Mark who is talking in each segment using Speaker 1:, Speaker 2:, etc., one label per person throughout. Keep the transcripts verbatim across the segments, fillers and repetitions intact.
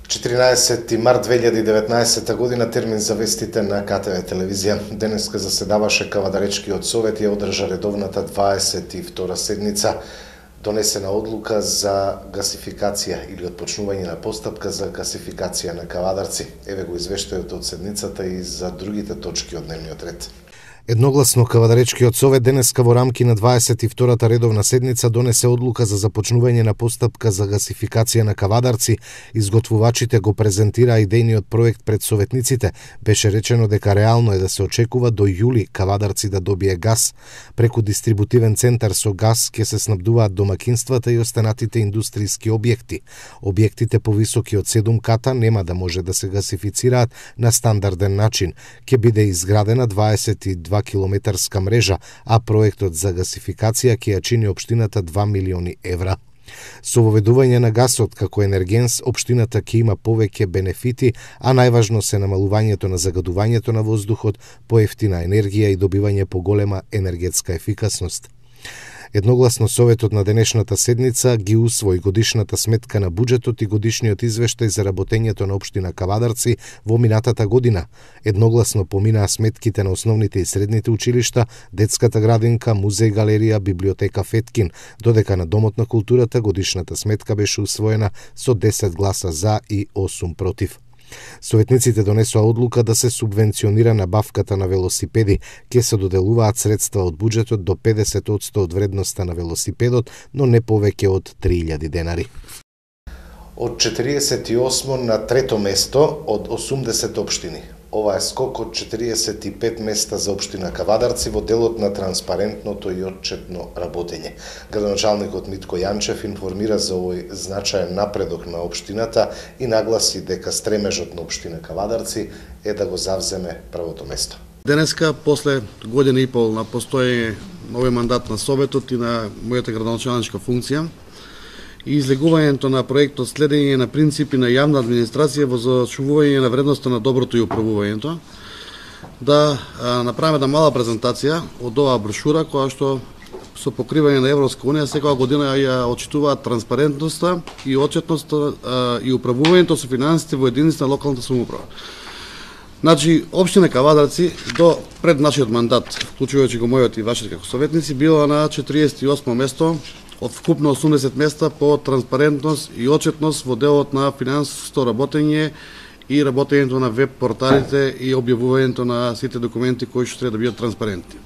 Speaker 1: четиринаесети март две илјади и деветнаесетта година, термин за вестите на К Т В телевизија. Денеска заседаваше Кавадаречкиот совет и одржа редовната дваесет и втора седница. Донесена одлука за гасификација или отпочнување на постапка за гасификација на Кавадарци. Еве го извештајот од седницата и за другите точки од дневниот ред.
Speaker 2: Едногласно Кавадаречкиот совет денеска во рамки на дваесет и втората редовна седница донесе одлука за започнување на постапка за гасификација на Кавадарци. Изготвувачите го презентираа идејниот проект пред советниците. Беше речено дека реално е да се очекува до јули Кавадарци да добие газ. Преку дистрибутивен центар со газ ќе се снабдуваат домакинствата и останатите индустријски објекти. Објектите повисоки од седум ката нема да може да се гасифицираат на стандарден начин. Ќе биде изградена дваесет и два километарска мрежа, а проектот за гасификација ќе ја чини општината два милиони евра. Со воведување на гасот како енергенс, општината ќе има повеќе бенефити, а најважно се намалувањето на загадувањето на воздухот, поевтина енергија и добивање поголема енергетска ефикасност. Едногласно советот на денешната седница ги усвои годишната сметка на буџетот и годишниот извештај за работењето на општина Кавадарци во минатата година. Едногласно поминаа сметките на основните и средните училишта, детската градинка, музеј, галерија, библиотека Феткин, додека на Домот на културата годишната сметка беше усвоена со десет гласа за и осум против. Советниците донесоа одлука да се субвенционира набавката на велосипеди. Ке се доделуваат средства од буџетот до педесет одсто од вредноста на велосипедот, но не повеќе од три илјади денари.
Speaker 1: Од четириесет и осмо на трето место од осумдесет општини. Ова е скок од четириесет и пет места за општина Кавадарци во делот на транспарентното и отчетно работење. Градоначалникот Митко Јанчев информира за овој значаен напредок на општината и нагласи дека стремежот на општина Кавадарци е да го завземе првото место.
Speaker 3: Денеска, после година и пол на постоење на овој мандат на Советот и на мојата градоначалничка функција, и излегувањето на проектот следење на принципи на јавна администрација во зачувување на вредноста на доброто и управувањето, да а, направиме една мала презентација од оваа брошура која што со покривање на Европска унија секоја година ја отчитуваат транспарентноста и отчетноста а, и управувањето со финансите во единиците на локалната самоуправа. Значи, општина Кавадарци до пред нашиот мандат, вклучувајќи го мојот и вашите како советници, била на четириесет и осмо место од вкупно осумдесет места по транспарентност и отчетност во делот на финансиско работење и работењето на веб порталите и објавувањето на сите документи кои што треба да бидат транспарентни.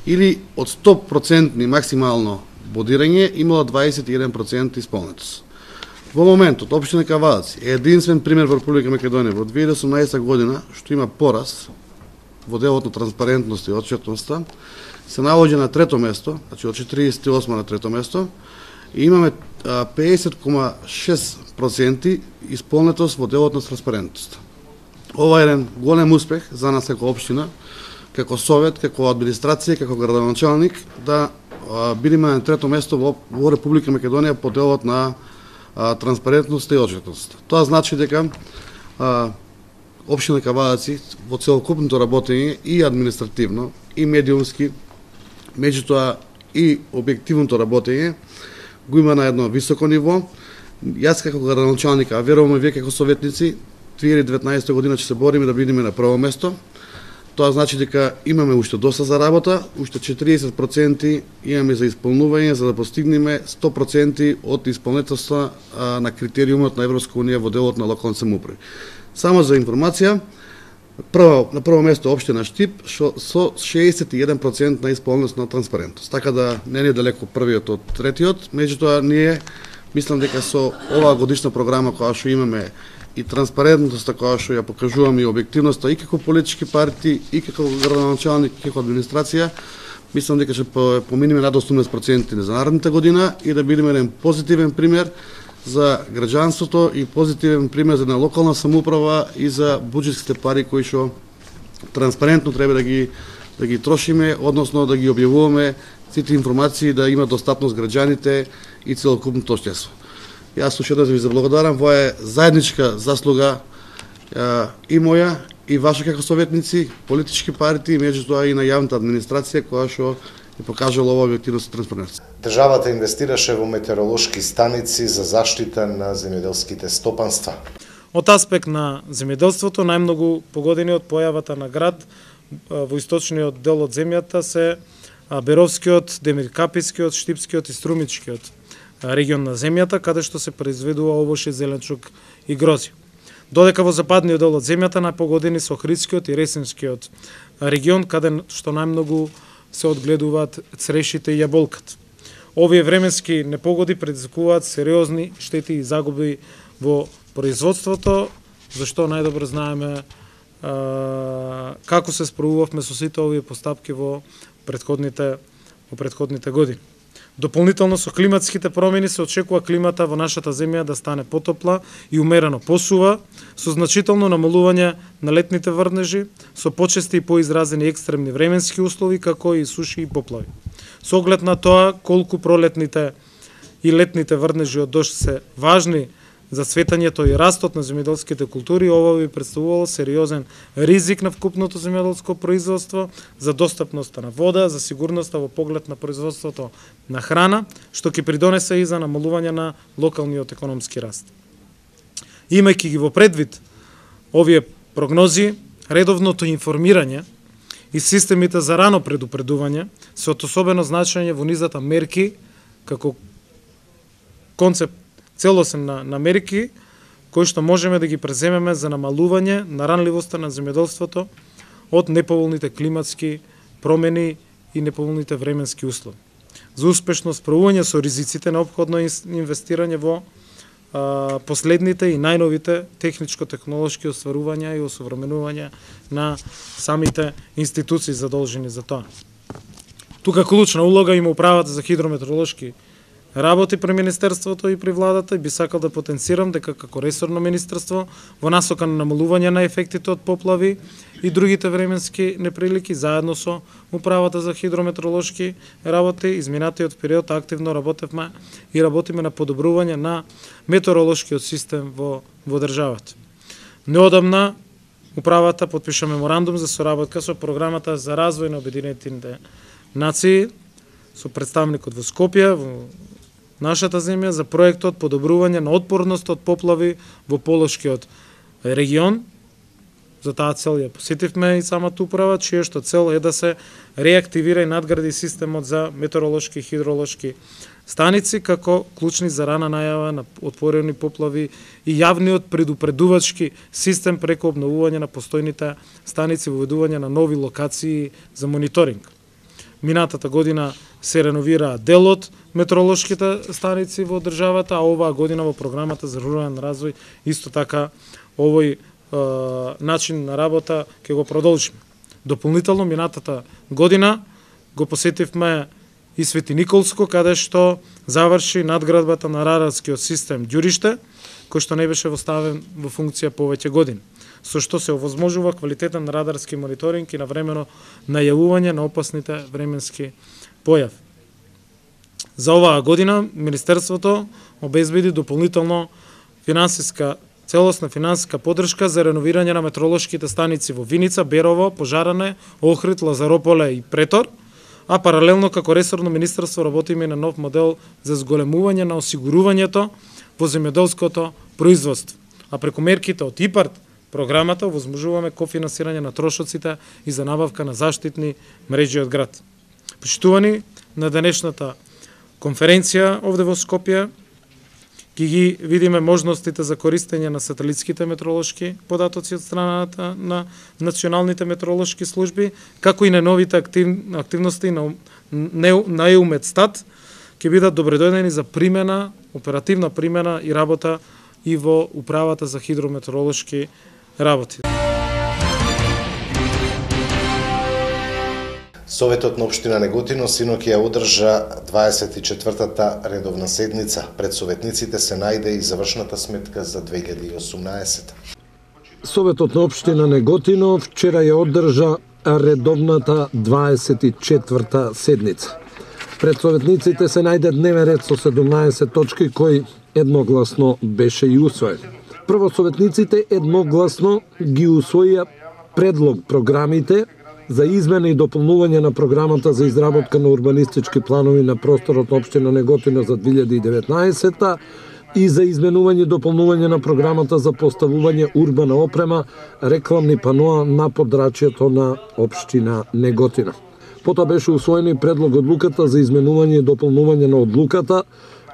Speaker 3: Или од сто проценти максимално бодирање имало дваесет и еден процент исполнетост. Во моментот општина Кавадарци е единствен пример во Република Македонија во две илјади и осумнаесетта година што има пораз во делот на транспарентност и отчетноста, се наоѓа на трето место, значи од четириесет и осмо на трето место, и имаме педесет кoma шест проценти исполнетост во делот на транспарентност. Ова е еден голем успех за нас како општина, како совет, како администрација, како градоначалник, да а, бидеме на трето место во, во Република Македонија по делот на а, транспарентност и отчетност. Тоа значи дека а, општина Кавадарци во целокупното работење и административно, и медиумски, меѓутоа и објективното работење го има на едно високо ниво. Јас како градоначалник, а верувам и вие како советници, две илјади и деветнаесетта година ќе се бориме да бидеме на прво место. Тоа значи дека имаме уште доста за работа, уште четириесет проценти имаме за исполнување за да постигнеме сто проценти од исполнетоста на критериумот на Европска унија во делот на локални самоуправи. Само за информација, Прво, на прво место општина Штип шо, со шеесет и еден процент на исполненост на транспарентност. Така да не е далеко првиот од третиот, меѓутоа ние мислам дека со оваа годишна програма која што имаме и транспарентноста која што ја покажуваме и објективноста и како политички партии и како градоначалник и како администрација, мислам дека ќе поминеме над осумдесет проценти за наредната година и да бидеме еден позитивен пример за граѓанството и позитивен пример за на локална самоуправа и за буџетските пари кои што транспарентно треба да ги да ги трошиме, односно да ги објавуваме сите информации да има достапност граѓаните и целокупното општество. Јас уште еднаш ви заблагодарам, ова е заедничка заслуга и моја и ваше како советници, политички партии, меѓутоа и на јавната администрација која што е покажала ова објективност и транспарентност.
Speaker 1: Државата инвестираше во метеоролошки станици за заштита на земјоделските стопанства.
Speaker 4: Од аспект на земјоделството, најмногу погодени од појавата на град во источниот дел од земјата се Беровскиот, Демиркапискиот, Штипскиот и Струмичкиот регион на земјата, каде што се произведува овошје, зеленчук и грози. Додека во западниот дел од земјата најпогодени се Охридскиот и Ресинскиот регион, каде што најмногу се одгледуваат црешите и јаболката. Овие временски непогоди предизвикуваат сериозни штети и загуби во производството, зашто најдобро знаеме а, како се справувавме со сите овие постапки во предходните во предходните години. Дополнително со климатските промени се очекува климата во нашата земја да стане потопла и умерено посува, со значително намалување на летните врнежи, со почести и поизразени екстремни временски услови, како и суши и поплави. Со оглед на тоа колку пролетните и летните врнежи од дожд се важни за цветањето и растот на земјоделските култури, ова би представувало сериозен ризик на вкупното земјоделско производство, за достапноста на вода, за сигурноста во поглед на производството на храна, што ќе придонесе и за намалување на локалниот економски раст. Имајќи ги во предвид овие прогнози, редовното информирање и системите за рано предупредување се од особено значење во низата мерки како концепт целосен на, на мерки кои што можеме да ги преземеме за намалување на ранливоста на земјоделството од неповолните климатски промени и неповолните временски услови. За успешно справување со ризиците неопходно инвестирање во а, последните и најновите техничко-технолошки остварувања и осовременување на самите институции задолжени за тоа. Тука клучна улога има управата за хидрометеоролошки работи при Министерството и при владата, и би сакал да потенцирам дека како ресорно министерство во насока на намалување на ефектите од поплави и другите временски неприлики, заедно со управата за хидрометеоролошки работи, изминатиот период активно работевме и работиме на подобрување на метеоролошкиот систем во, во државата. Неодамна управата потпиша меморандум за соработка со програмата за развој на Обединетите нации, со представникот во Скопје, во нашата земја, за проектот подобрување на отпорност од поплави во Полошкиот регион. За таа цел ја посетивме и самата управа, чија што цел е да се реактивира и надгради системот за метеоролошки и хидролошки станици, како клучни за рана најава на отворени поплави и јавниот предупредувачки систем преку обновување на постојните станици, воведување на нови локации за мониторинг. Минатата година се реновира дел од метеоролошките станици во државата, а оваа година во програмата за рурален развој исто така овој е, начин на работа ќе го продолжиме. Дополнително минатата година го посетивме и Свети Николско, каде што заврши надградбата на радарскиот систем Ѓуриште, кој што не беше оставен во функција повеќе години, со што се овозможува квалитетен радарски мониторинг и навремено најавување на опасните временски појави. За оваа година Министерството обезбеди дополнително финансиска целосна финансиска поддршка за реновирање на метеоролошките станици во Виница, Берово, Пожаране, Охрид, Лазарополе и Претор, а паралелно како ресорно министерство работиме на нов модел за зголемување на осигурувањето во земјоделското производство. А преку мерките од ИПАРД програмата овозможуваме кофинансирање на трошоците и за набавка на заштитни мрежи од град. Почитувани, на денешната конференција овде во Скопје ќе ги видиме можностите за користење на сателитските метеоролошки податоци од страната на националните метеоролошки служби, како и на новите актив, активности на, на ЕУМЕТСТАТ ќе бидат добредојдени за примена, оперативна примена и работа и во управата за хидрометеоролошки работи.
Speaker 1: Советот на општина Неготино синоќ ја одржа дваесет и четвртата редовна седница. Пред советниците се најде и завршната сметка за две илјади и осумнаесета.
Speaker 5: Советот на општина Неготино вчера ја одржа редовната дваесет и четврта седница. Пред советниците се најде дневен ред со седумнаесет точки кој едногласно беше и усвоен. Прво советниците едногласно ги усвоија предлог програмите за измена и дополнување на програмата за изработка на урбанистички планови на просторот на општина Неготино за две илјади и деветнаесета и за изменување и дополнување на програмата за поставување урбана опрема, рекламни паноа на подрачјето на општина Неготино. Потоа беше усвоен и предлог одлуката за изменување и дополнување на одлуката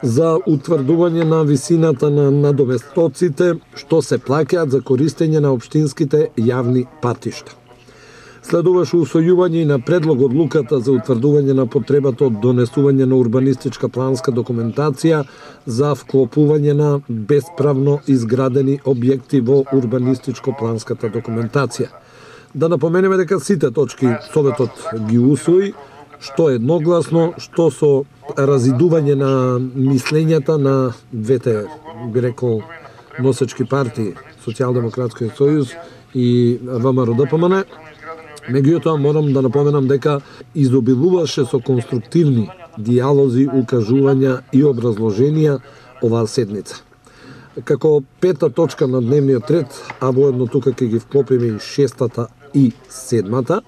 Speaker 5: за утврдување на висината на надоместоците што се плаќаат за користење на општинските јавни патишта. Следуваше усвојување и на предлог одлуката за утврдување на потребата од донесување на урбанистичка планска документација за вклопување на бесправно изградени објекти во урбанистичко-планската документација. Да напоменеме дека сите точки Советот ги усвои, што едногласно, што со разидување на мислењата на двете, би рекол, носечки партии, Социјалдемократскиот сојуз и ВМРО-ДПМН. Меѓутоа, морам да напоменам дека изобилуваше со конструктивни дијалози, укажувања и образложенија оваа седница. Како пета точка на дневниот ред, а воедно тука ќе ги вклопиме и шестата и седмата,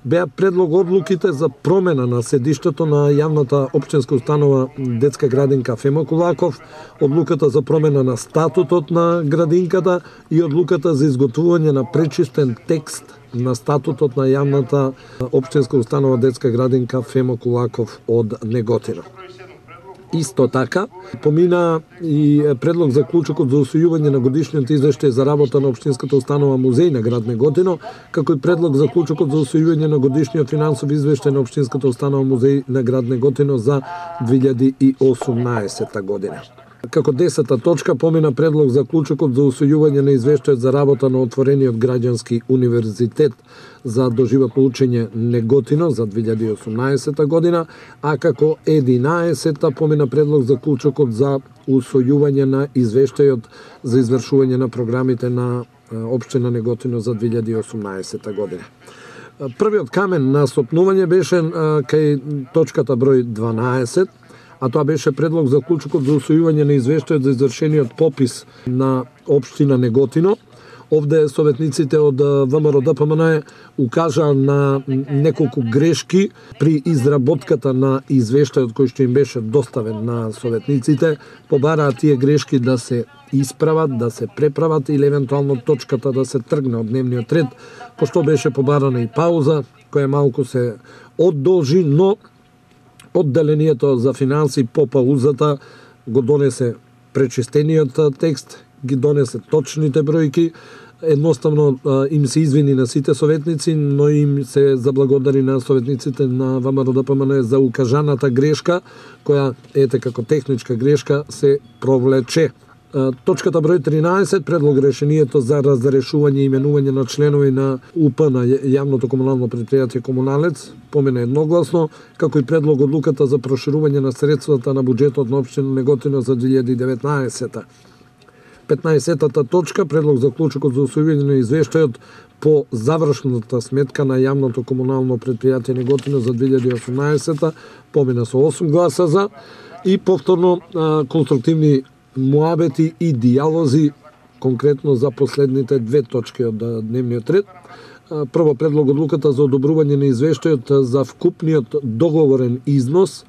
Speaker 5: беа предлог одлуките за промена на седиштето на јавната општинска установа детска градинка Фема Кулаков, одлуката за промена на статутот на градинката и одлуката за изготвување на пречистен текст на статутот на јавната општинска установа детска градинка Фема Кулаков од Неготино. Исто така, помина и предлог за клучокот за усвојување на годишниот извештај за работа на општинската установа музеј на град Неготино, како и предлог за клучокот за усвојување на годишниот финансов извештај на општинската установа музеј на град Неготино за две илјади и осумнаесета година. Како десета точка помина предлог за клучокот за усвојување на извештајот за работа на отворениот граѓански универзитет за доживотно учење Неготино за две илјади и осумнаесета година, а како единаесета помина предлог за клучокот за усвојување на извештајот за извршување на програмите на општина Неготино за две илјади и осумнаесета година. Првиот камен на стопнување беше кај точката број дванаесет, а тоа беше предлог за клучокот за усвојување на извештајот за извршениот попис на општина Неготино. Овде советниците од ВМРО-ДПМН укажаа на неколку грешки при изработката на извештајот кој што им беше доставен на советниците. Побараа тие грешки да се исправат, да се преправат или евентуално точката да се тргне од дневниот ред, пошто беше побарана и пауза, која малку се одолжи, но одделението за финанси по паузата го донесе пречистениот текст, ги донесе точните бројки, едноставно им се извини на сите советници, но им се заблагодари на советниците на ВМРО-ДПМН за укажаната грешка, која ете како техничка грешка се провлече. Точката број тринаесет, предлог решението за разрешување и именување на членови на У П на јавното комунално предпријатие Комуналец помина едногласно, како и предлог одлуката за проширување на средствата на буџетот на општина Неготино за две илјади и деветнаесета. петнаесетата точка, предлог за клучокот за усвојување на извештајот по завршната сметка на јавното комунално предпријатие Неготино за две илјади и осумнаесета, помина со осум гласа за и повторно конструктивни муабети и дијалози конкретно за последните две точки од дневниот ред. Прво, предлог одлуката за одобрување на извештајот за вкупниот договорен износ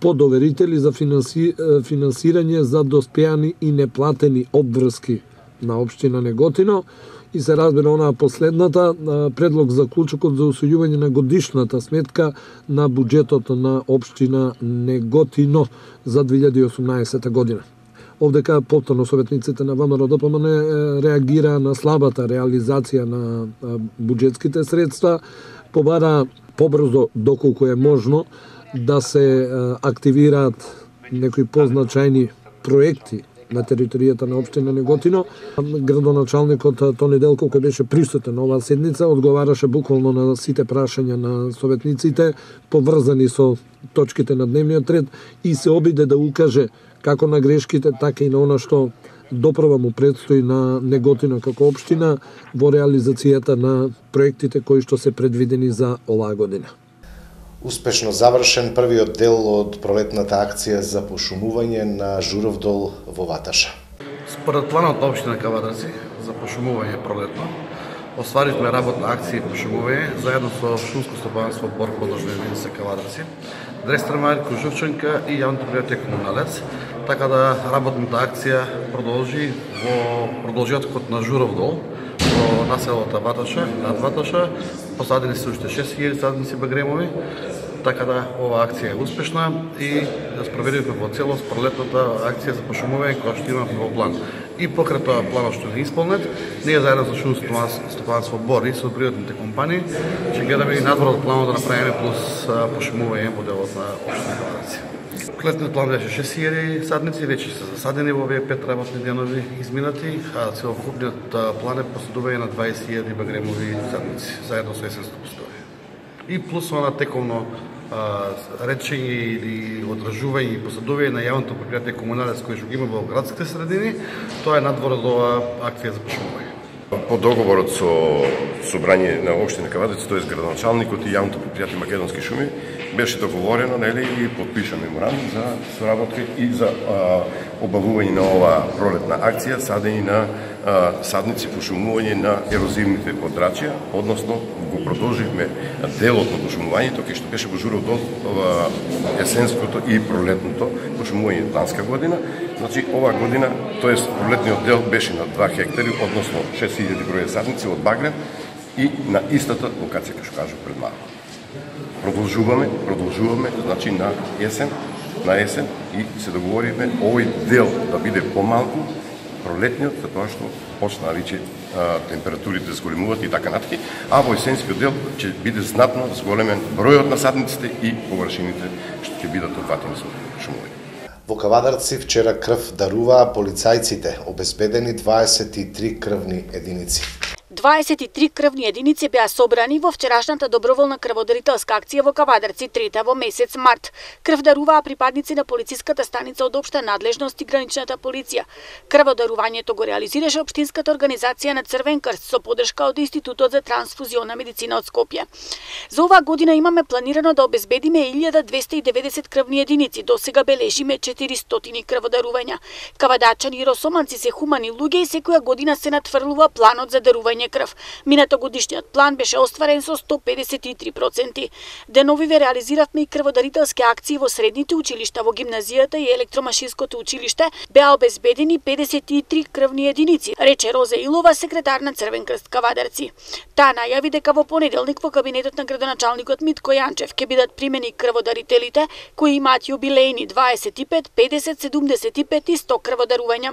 Speaker 5: по доверители за финанси, финансирање за доспеани и неплатени обврски на општина Неготино и се разбира онаа последната, предлог за клучокот за усвојување на годишната сметка на буџетот на општина Неготино за две илјади и осумнаесета година. Овдека повторно советниците на ВМРО-ДПМН реагира на слабата реализација на буџетските средства, побара побрзо доколку е можно да се активираат некои позначајни проекти на територијата на општина Неготино. Градоначалникот Тони Делков, кој беше присутен на оваа седница, одговараше буквално на сите прашања на советниците, поврзани со точките на дневниот ред и се обиде да укаже како на грешките, така и на она што доправа му предстои на Неготино како општина во реализацијата на проектите кои што се предвидени за оваа година.
Speaker 1: Успешно завршен првиот дел од пролетната акција за пошумување на Журовдол во Ваташа.
Speaker 3: Според планот на општина Кавадарци за пошумување пролетно, остваривме работна акција и пошумување заедно со шумско стопанство Борг подржна единица Кавадарци, Дрестремар, Кожувченка и јавното предпријатие Комуналец, така да работната акција продолжи во продолжетокот на Журов дол, во населото Ваташа, над Ваташа, посадени се уште шест илјади садници багремови, така да ова акција е успешна и да спроведуваме во целост пролетната акција за пошумување која што имаме во план. И покрај тоа планот што не исполнет, ние заедно со шумско стопанство Бор и со приvatните компании ќе гледаме и надвор од планот да направиме плюс пошумување во делот на општина Кавадарци. Летниот план беше шест илјади садници, веќе се засадени во овие пет работни денови изминати, а целокупниот план е посадување на дваесет илјади багремови садници, заедно со есенско постојање. И плюс она тековно речење или одржување и посадување на јавното предпријатие Комуналец кој што ги има во градските средини, тоа е надвор од оваа акција за пошумување.
Speaker 6: По договорот со собрање на општина Кавадарци, тоест градоначалникот и јавното предпријатие Македонски шуми, беше договорено, нели, и подпиша меморандум за соработка и за а, обавување на оваа пролетна акција, садење на а, садници, пошумување на ерозивните подрачја, односно го продолживме делот на пошумувањето, кај што беше во Журов дол есенското и пролетното пошумување ланска година. Значи, оваа година, тоест пролетниот дел беше на два хектари, односно шест илјади броја садници од багрем и на истата локација, како што кажав пред малку. Продолжуваме, продолжуваме, значи на есен, на есен и се договориме овој дел да биде помалку, пролетниот, затоа што почнаа веќе температурите да зголемуваат и така натаму, а во есенскиот дел ќе биде знатно зголемен бројот на садниците и површините што ќе бидат опфатени со шумување.
Speaker 1: Во Кавадарци вчера крв даруваа полицајците, обезбедени дваесет и три крвни единици.
Speaker 7: дваесет и три крвни единици беа собрани во вчерашната доброволна крводарителска акција во Кавадарци, трета во месец март. Крв даруваа припадници на полициската станица од општа надлежност и граничната полиција. Крводарувањето го реализираше општинската организација на Црвен крст со поддршка од Институтот за трансфузиона медицина од Скопје. За оваа година имаме планирано да обезбедиме илјада двесте и деветдесет крвни единици, досега бележиме четиристотини крводарувања. Кавадарчани и росоманци се хумани луѓе и секоја година се натврлува планот за дарување крв. Минато годишниот план беше остварен со сто педесет и три проценти. Деновиве реализиравме и крводарителски акции во средните училишта, во гимназијата и електромашинското училиште беа обезбедени педесет и три крвни единици, рече Розе Илова, секретар на Црвен крст Кавадарци. Таа најави дека во понеделник во кабинетот на градоначалникот Митко Јанчев ќе бидат примени крводарителите кои имаат јубилејни дваесет и пет, педесет, седумдесет и пет и сто крводарувања.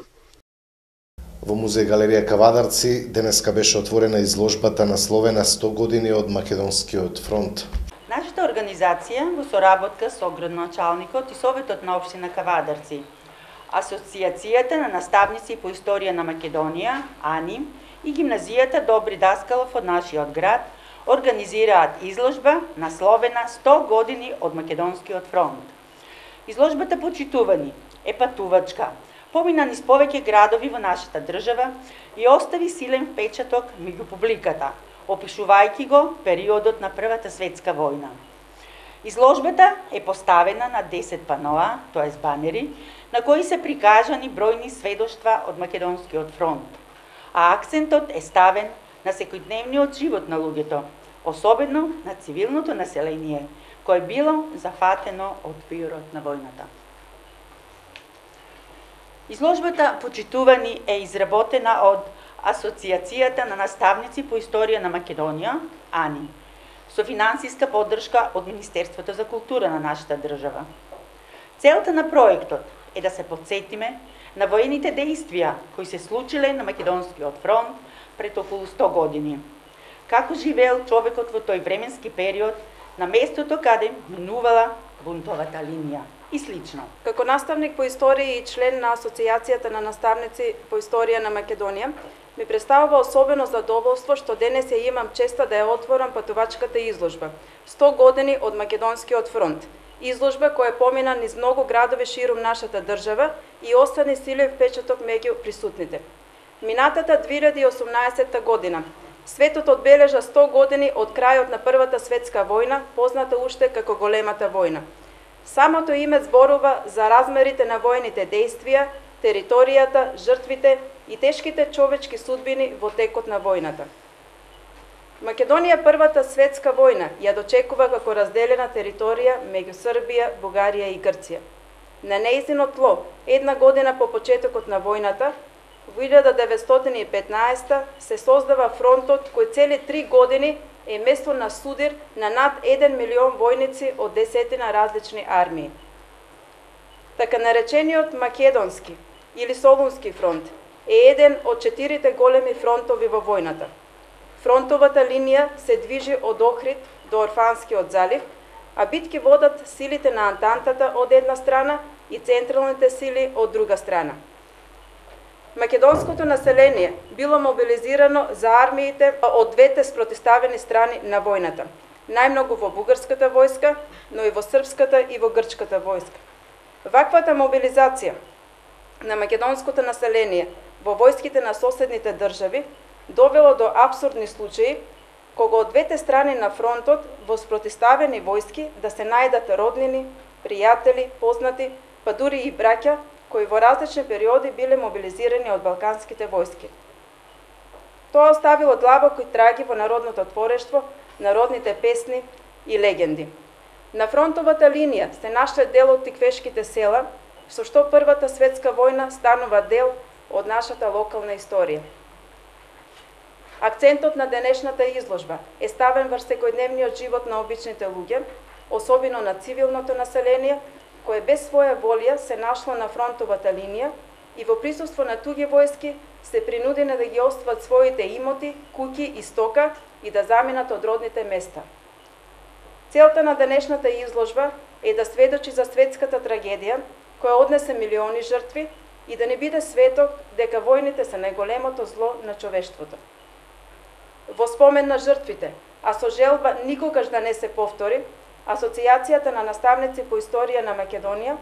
Speaker 1: Во музеј галерија Кавадарци денеска беше отворена изложбата насловена сто години од Македонскиот фронт.
Speaker 8: Нашата организација во соработка со градоначалникот и Советот на општина Кавадарци, Асоцијацијата на наставници по историја на Македонија, АНИ, и гимназијата Добри Даскалов од нашиот град организираат изложба насловена сто години од Македонскиот фронт. Изложбата почитувани е патувачка, помина низ повеќе градови во нашата држава и остави силен впечаток меѓу публиката, опишувајќи го периодот на Првата светска војна. Изложбата е поставена на десет паноа, тоест банери, на кои се прикажани бројни сведоштва од Македонскиот фронт, а акцентот е ставен на секојдневниот живот на луѓето, особено на цивилното население, кое било зафатено од пиорот на војната. Изложбата почитувани е изработена од Асоцијацијата на наставници по историја на Македонија, АНИ, со финансиска поддршка од Министерството за култура на нашата држава. Целта на проектот е да се потсетиме на воените дејствија кои се случиле на Македонскиот фронт пред околу сто години. Како живеел човекот во тој временски период на местото каде минувала бунтовата линија и слично.
Speaker 9: Како наставник по историја и член на Асоцијацијата на наставници по историја на Македонија, ми представува особено задоволство што денес ја имам честа да ја отворам патувачката изложба сто години од Македонскиот фронт. Изложба која помина низ многу градови ширум нашата држава и остани силен впечаток меѓу присутните. Минатата две илјади и осумнаесетта година светот одбележа сто години од крајот на Првата светска војна, позната уште како големата војна. Самото име зборува за размерите на војните дејствија, територијата, жртвите и тешките човечки судбини во текот на војната. Македонија првата светска војна ја дочекува како разделена територија меѓу Србија, Бугарија и Грција. На нејзино тло, една година по почетокот на војната, во илјада деветстотини и петнаесета се создава фронтот кој цели три години е место на судир на над еден милион војници од десетина различни армии. Така наречениот Македонски или Солунски фронт е еден од четирите големи фронтови во војната. Фронтовата линија се движи од Охрид до Орфанскиот залив, а битки водат силите на Антантата од една страна и централните сили од друга страна. Македонското население било мобилизирано за армиите од двете спротиставени страни на војната, најмногу во бугарската војска, но и во српската и во грчката војска. Ваквата мобилизација на македонското население во војските на соседните држави довело до апсурдни случаи, кога од двете страни на фронтот во спротиставени војски да се најдат роднини, пријатели, познати, па дури и браќа, кои во различни периоди биле мобилизирани од балканските војски. Тоа оставило длабоки траги во народното творештво, народните песни и легенди. На фронтовата линија се нашле дел од тиквешките села, со што Првата светска војна станува дел од нашата локална историја. Акцентот на денешната изложба е ставен врз секојдневниот живот на обичните луѓе, особено на цивилното население, кое без своја волја се нашло на фронтовата линија и во присуство на туѓи војски се принудени да ги остват своите имоти, куќи и стока и да заминат од родните места. Целта на денешната изложба е да сведочи за светската трагедија, која однесе милиони жртви и да не биде светок дека војните се најголемото зло на човештвото. Во спомен на жртвите, а со желба никогаш да не се повтори, Асоцијацијата на наставници по историја на Македонија,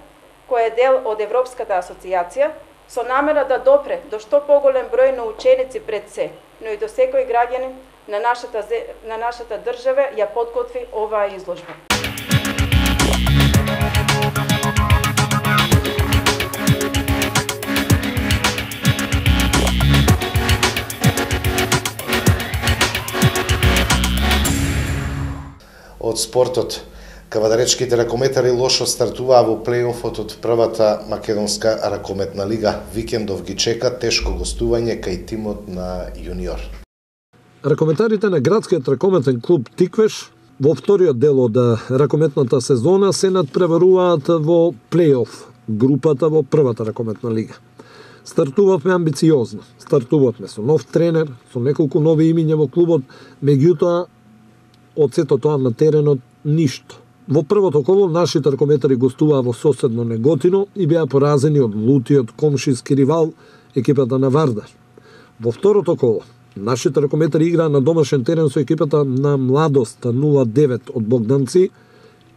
Speaker 9: која е дел од Европската асоциација, со намера да допре до што поголем број на ученици пред се, но и до секој граѓанин на нашата, на нашата држава ја подготви оваа изложба.
Speaker 1: Од спортот, кавадаречките ракометари лошо стартуваа во плейофот од првата македонска ракометна лига. Викендов ги чека тешко гостување кај тимот на јуниор.
Speaker 5: Ракометарите на градскиот ракометен клуб Тиквеш во вториот дел од ракометната сезона се надпреваруваат во плейоф групата во првата ракометна лига. Стартувавме амбициозно, стартувавме со нов тренер, со неколку нови имиња во клубот, меѓутоа од сето тоа на теренот ништо. Во првото коло нашите ракометари гостуваа во соседно Неготино и беа поразени од лутиот комшиски ривал екипата на Вардар. Во второто коло нашите ракометари играа на домашен терен со екипата на Младост нула девет од Богданци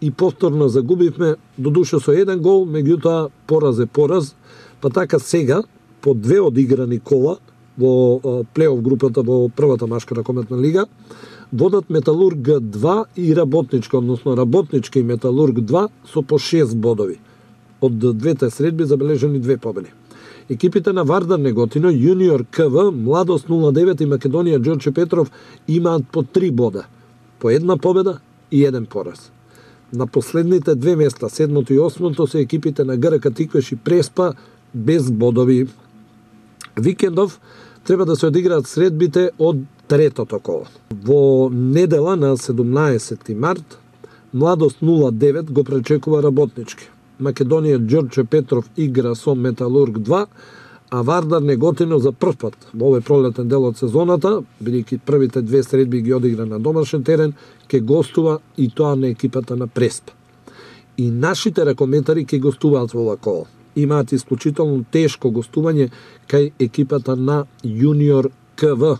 Speaker 5: и повторно загубивме, додуше со еден гол, меѓутоа пораз е пораз, па така сега по две одиграни кола во плейоф групата во првата машка ракометна лига водат Металург два и Работничка, односно Работничка и Металург два со по шест бодови. Од двете средби забележени две победи. Екипите на Вардар Неготино, Јуниор КВ, Младост нула девет и Македонија Ѓорче Петров имаат по три бода, по една победа и еден пораз. На последните две места, седмото и осмото, се екипите на ГРК Тиквеш и Преспа без бодови. Викендов треба да се одиграат средбите од третото коло. Во недела на седумнаесети март, Младост нула девет го пречекува Работнички. Македонија Ѓорче Петров игра со Металург два, а Вардар Неготино за прв пат во овој пролетен дел од сезоната, бидејќи првите две средби ги одигра на домашен терен, ке гостува и тоа на екипата на Преспа. И нашите ракометари ке гостуваат во ова коло. Имаат исклучително тешко гостување кај екипата на Јуниор КВ.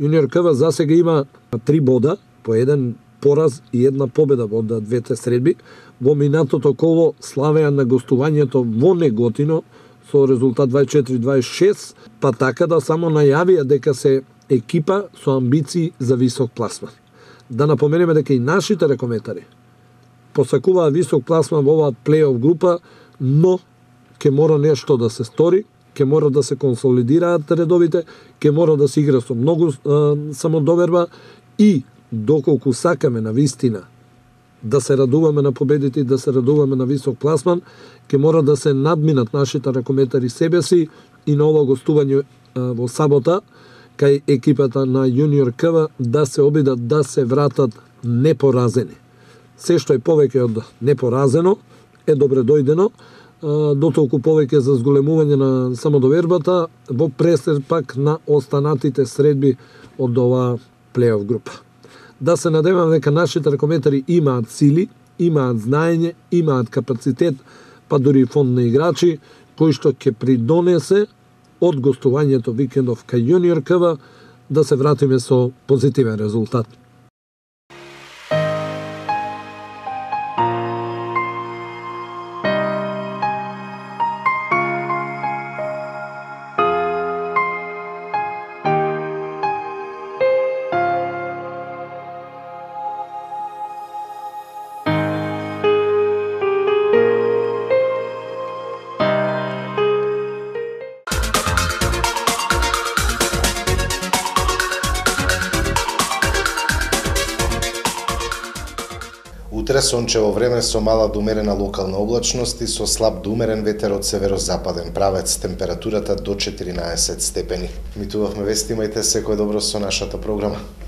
Speaker 5: Јуниор КВ засега има три бода, по еден пораз и една победа во двете средби. Во минатото коло славеа на гостувањето во Неготино со резултат дваесет и четири дваесет и шест, па така да само најавија дека се екипа со амбиции за висок пласман. Да напоменеме дека и нашите ракометари посакуваа висок пласман во оваа плейоф група, но ќе мора нешто да се стори, ќе мора да се консолидираат редовите, ќе мора да се игра со многу а, самодоверба И доколку сакаме на вистина да се радуваме на победите и да се радуваме на висок пласман, ќе мора да се надминат нашите ракометари себе си и на ова гостување во сабота кај екипата на Јуниор КВ да се обидат да се вратат непоразени. Се што е повеќе од непоразено е добре дојдено, дотолку повеќе за зголемување на самодовербата во пресер пак на останатите средби од ова плей-оф група. Да се надевам дека нашите ракометари имаат сили, имаат знаење, имаат капацитет, па дури фонд на играчи, кој што ќе придонесе од гостувањето викендов кај Јуниор КВ да се вратиме со позитивен резултат.
Speaker 1: Утре сончево време со мала до умерена локална облачност и со слаб до умерен ветер од северозападен правец, температурата до четиринаесет степени. Митувавме вести, имајте секој добро со нашата програма.